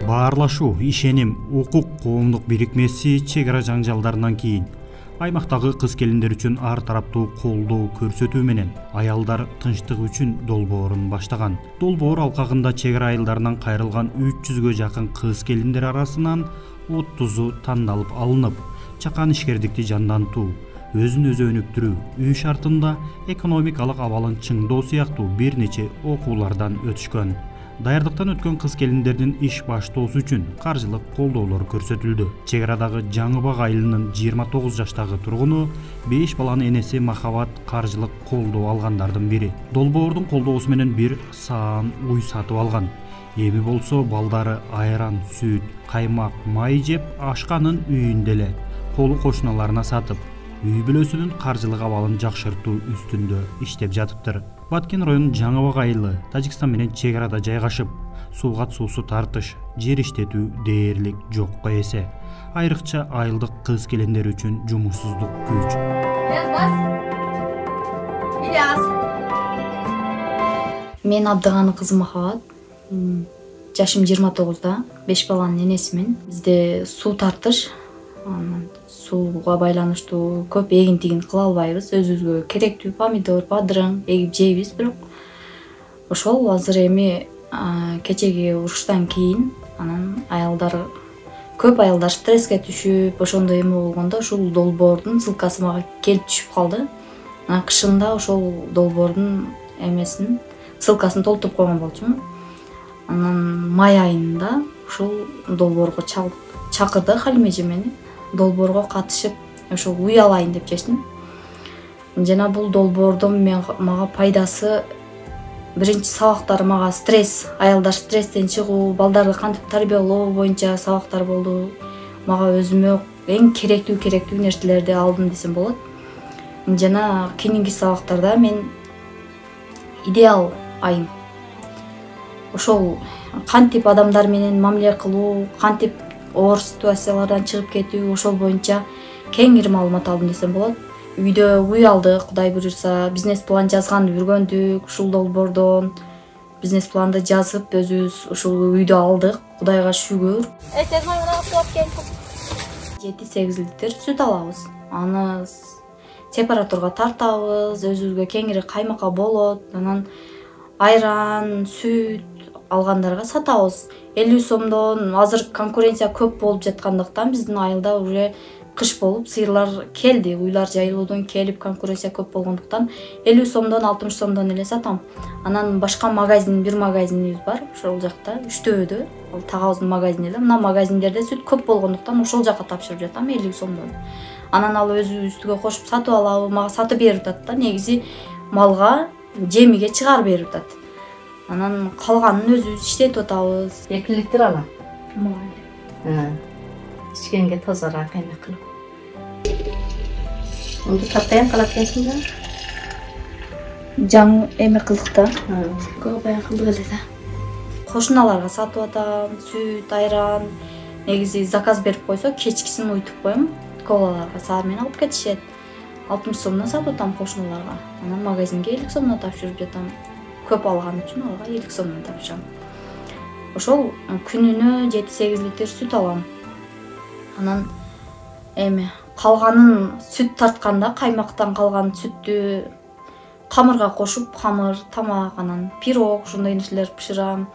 Баарлашуу, ишеним, укук коомдук бирикмеси чек ара жаңжалдарынан кийин аймактагы кыз-келиндер үчүн ар тараптуу колдоо көрсөтүү менен аялдар тынчтыгы үчүн долбоорун баштаган. Долбоор алкагында чек ара айылдарынан кайрылган 300гө жакын кыз-келиндер арасынан 30у тандалып алынып, чакан ишкердикти жандантуу, өзүн өзү өнүктүрүү, үй шартында экономикалык абалын чыңдоо сыяктуу бир нече окуулардан өтүшкөн. Даярдыктан өткөн кыз-келиндердин иш баштоосу үчүн каржылык колдоолор көрсөтүлдү. Чек арадагы Жаңыбак айылынын 29 жаштагы тургуну 5 баланын энеси Махабат каржылык колдоо алгандардын бири. Долбоордун колдоосу менен бир саан уй сатып алган. Эми болсо балдары айран, сүт, каймак, май жеп ашканын үйүндө эле колу кошуналарына сатып, үй бүлөсүнүн каржылык абалын жакшыртуу үстүндө иштеп жатыптыр. Баткен районунун Жаңыбак айылы Тажикстан менен чек арада жайгашып, сууга суусу тартыш, жер иштетүү дээрлик жокко эсе. Айрыкча айылдык кыз-келиндер үчүн жумушсуздук күч. Мен Абдыганов кызы Махабат. Жашым 29да, 5 баланын энесимин. Бизде суу тартыш, сууга байланыштуу көп эгин-тигин кыла албайбыз. Өзүбүзгө керектүү помидор, бадырың эгип жейбиз, бирок ошол азыр эми кечеги уруштан кийин анан көп аялдар стресске түшүп, ошондой эме болгондо ушул долбоордун ссылкасы мага келип түшүп калды. Анан кышында ошол долбоордун эмесин, ссылкасын толтуруп койгон болчумун. Анан май айында ушул долбоорго чакырды Халима эже мени. Долбоорго катышып, ошол уй алайын деп чечтим. Жана бул долбоордон мага пайдасы биринчи сабактар мага стресс, аялдар стресстен чыгуу, балдарды кантип тарбиялоо боюнча сабактар болду. Мага өзүмө эң керектүү нерселерди алдым десем болот. Жана кийинки сабактарда мен идеал айым. Ошол кантип адамдар менен мамиле кылуу, кантип оор ситуациялардан чыгып кетүү, ошол боюнча кеңири маалымат алдым десем болот. Үйдө уй алдык, Кудай буюрса, бизнес план жазганды үргөндүк. Ушул долбоордон бизнес планды жазып, өзүбүз ушул үйдү алдык. Кудайга шүгүр. 7-8 литр сүт алабыз. Аны сепараторго тартабыз, өзүбүзгө кеңири каймакка болот. Анан айран, сүт алгандарга сатабыз. 50 сомдон азыр конкуренция көп болуп жаткандыктан биздин айылда уже кыш болуп сыйырлар келди. Уйлар жайылуудан келип конкуренция көп болгондуктан 50 сомдон 60 сомдон эле сатам. Анан башка бир магазинибиз бар, ошол жакта Үчтөбөдө, ал тагабыздын магазини эле. Мына магазиндерде сүт көп болгондуктан ошол жака тапшырып жатам 50 сомдон. Анан ал өзү үстүгө кошуп сатып алабы, мага сатып берип атат да, негизи малга жемиге чыгарып берип атат. Анан калганын өзүбүз иштетип атабыз. 2 литр алам. Мага. Ичкенге тозараак эме кылып. Онду таптайын калат экенсиң да? Жаңы эме кылдык да. Көп баян кылдык эле да. Кошуналарга сатып атам, сүт, айран. Негизи заказ берип койсо, кечкисин уйтуп коем. Колаларга саат менен алып кетишет. 60 сомдон сатып атам кошуналарга. Анан магазинге 50 сомдон тапшырып жатам. Көп алган үчүн алга 50 сомдон тапшырам. Ошол күнүнө 7-8 литр сүт алам. Анан эме калганын сүт тартканда каймактан калган сүттү камырга кошуп, камыр, тамак, анан пирог, ушундай нерселер бышырам.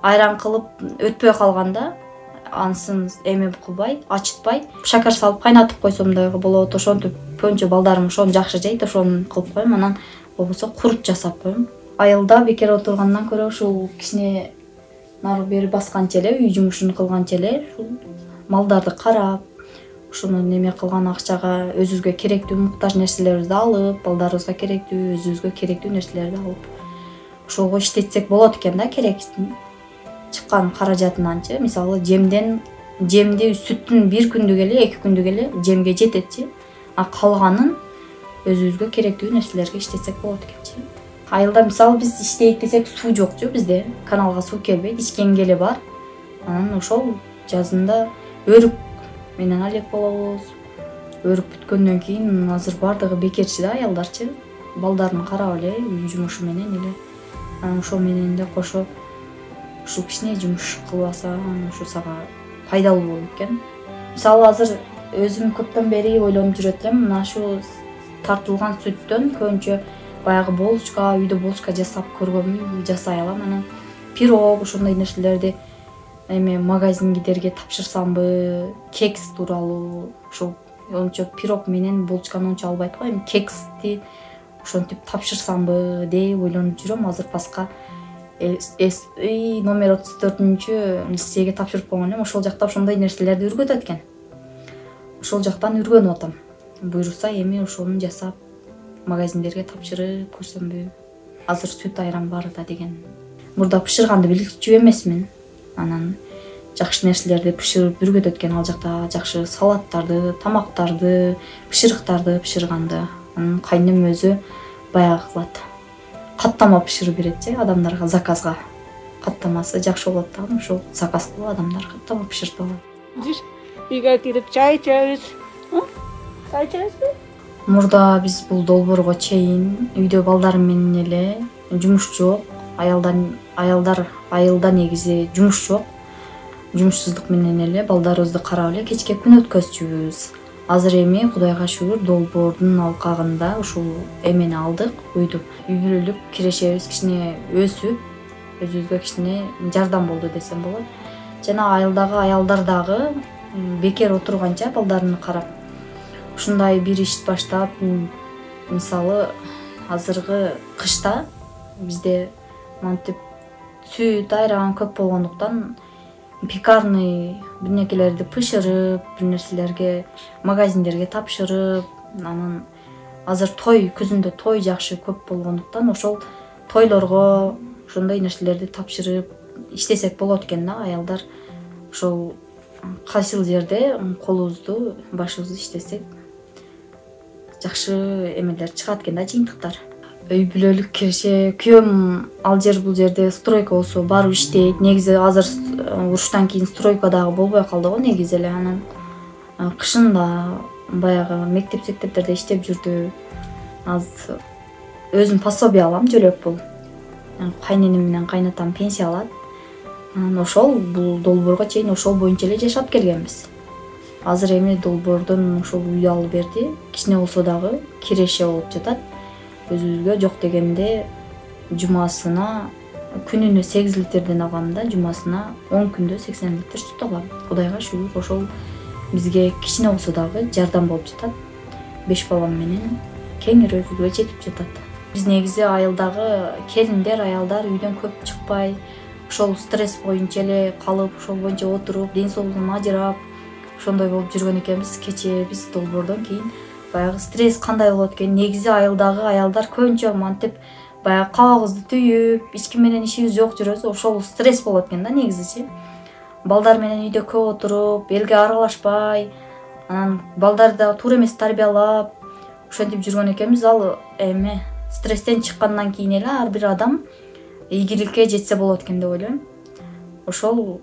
Айран кылып өтпөй калганда ансын эме кылбай, ачытпай, шакар салып кайнатып койсом да болот. Ошентип көбүнчө балдарым ошону жакшы жейт, ошону кылып коем. Анан болбосо курут жасап коем. Айылда бекер отургандан көрө ушул кичине нары бери басканча эле, үй жумушун кылганча эле ушул малдарды карап, ушуну неме кылган акчага өзүбүзгө керектүү муктаж нерселерибизди алып, балдарыбызга керектүү, өзүбүзгө керектүү нерселерди алып, ошого иштетсек болот экен да, керек чыккан каражатынанчы. Мисалы, жемди сүттүн бир күндүк эле, 2 күндүк эле жемге жететчи. А калганын өзүбүзгө керектүү нерселерге иштетсек болот экенчи. Айылда мисалы биз иштейт десек суу жокчу бизде, каналга суу келбейт, ичкенге эле бар. Анан ошол жазында өрүк менен алек болобуз. Өрүк бүткөндөн кийин азыр бардыгы бекерчи да аялдарчы. Балдарын карап эле үй жумушу менен эле. Анан ошол менен эле кошо ушул кичине жумуш кылбаса, ушу сага пайдалуу болот экен. Мисалы азыр өзүм көптөн бери ойлонуп жүрөт элем, мына ушу тартылган сүттөн көбүнчө баягы булочка, үйдө булочка жасап көргөнмүн, жасай алам. Анан пирог ошондой нерселерди эме магазиндерге тапшырсамбы, кекс тууралуу, ошол ончо пирог менен булочканы ончо албайт го, эми кексти ошентип тапшырсамбы деп ойлонуп жүрөм. Азыр паска номер 34 лицейге тапшырып койгон элем. Ошол жакта ошондой нерселерди үйрөтөт экен. Ошол жактан үйрөнүп атам. Буйруса эми ошону жасап магазиндерге тапшырып көрсөмбү. Азыр сүт айран бар да деген. Мурда бышырганды билчү эмесмин. Анан жакшы нерселерди бышырып үйрөтөт экен ал жакта, жакшы салаттарды, тамактарды, бышырыктарды бышырганды. Анан кайнем өзү баягы кылат. Каттама бышырып берет адамдарга, заказга. Каттамасы жакшы болот да, ошол заказ кылып адамдар каттама бышыртып алат. Үйгө кирип чай ичебиз. Чай ичебизби? Мурда биз бул долбоорго чейин үйдө балдарым менен эле жумуш жок, аялдар айылда негизи жумуш жок. Жумушсуздук менен эле балдарыбызды карап эле кечке күн өткөзчүбүз. Азыр эми Кудайга шүгүр долбоордун алкагында ушул эмени алдык, үйдү. Үй бүлөлүк кирешебиз кичине өсүп, өзүбүзгө кичине жардам болду десем болот. Жана айылдагы аялдар дагы бекер отурганча балдарын карап ушундай бир иш баштап, мисалы азыркы кышта бизде мынтип сүт айран көп болгондуктан пекарный бир нерселерди пышырып, бир нерселерге магазиндерге тапшырып, анан азыр той, күзүндө той жакшы көп болгондуктан ошол тойлорго ошондой нерселерди тапшырып иштесек болот экен да. Аялдар ошол кайсыл жерде колубузду, башыбызды иштесек жакшы эмелер чыгат экен да, жыйынтыктар. Үй бүлөлүк киреше, күйөөм ал жер бул жерде стройка болсо барып иштейт. Негизи азыр уруштан кийин стройка дагы болбой калды го негизи эле. Анан кышында баягы мектептерде иштеп жүрдү. Азыр өзүм пособие алам, жөлөк бул. Кайненем менен кайнатам пенсия алат. Анан ошол бул долбоорго чейин ошол боюнча эле жашап келгенбиз. Азыр эми долбоордон ошол үй алып берди. Кичине болсо дагы киреше болуп жатат. Өзүбүзгө жок дегенде жумасына күнүнө 8 литрден алгам да, жумасына 10 күндө 80 литр сүт алам. Кудайга шүгүр, ошол бизге кичине болсо дагы жардам болуп жатат. 5 балам менен кеңири өзүбүзгө жетип жатат. Биз негизи айылдагы келиндер, аялдар үйдөн көп чыкпай, ошол стресс боюнча эле калып, ошол боюнча отуруп, ден соолугун ажырап, ошондой болуп жүргөн экенбиз. Кечээ биз долбоордон кийин баягы стресс кандай болот экен, негизи айылдагы аялдар көбүнчө мантип баягы кабагыбызды түйүп, эч ким менен ишибиз жок жүрөбүз, ошол стресс болот экен да негизичи. Балдар менен үйдө көп отуруп, элге аралашпай, анан балдарды да туура эмес тарбиялап, ошентип жүргөн экенбиз. Ал эме стресстен чыккандан кийин эле ар бир адам ийгиликке жетсе болот экен деп ойлойм. Ошол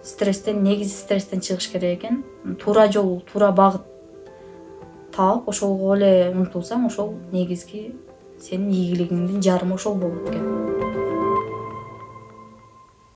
стресстен, негизи стресстен чыгыш керек экен. Туура жол, туура багыт таап, ошолго эле умтулсаң, ошол негизги сенин ийгилигиңдин жарымы ошол болот экен.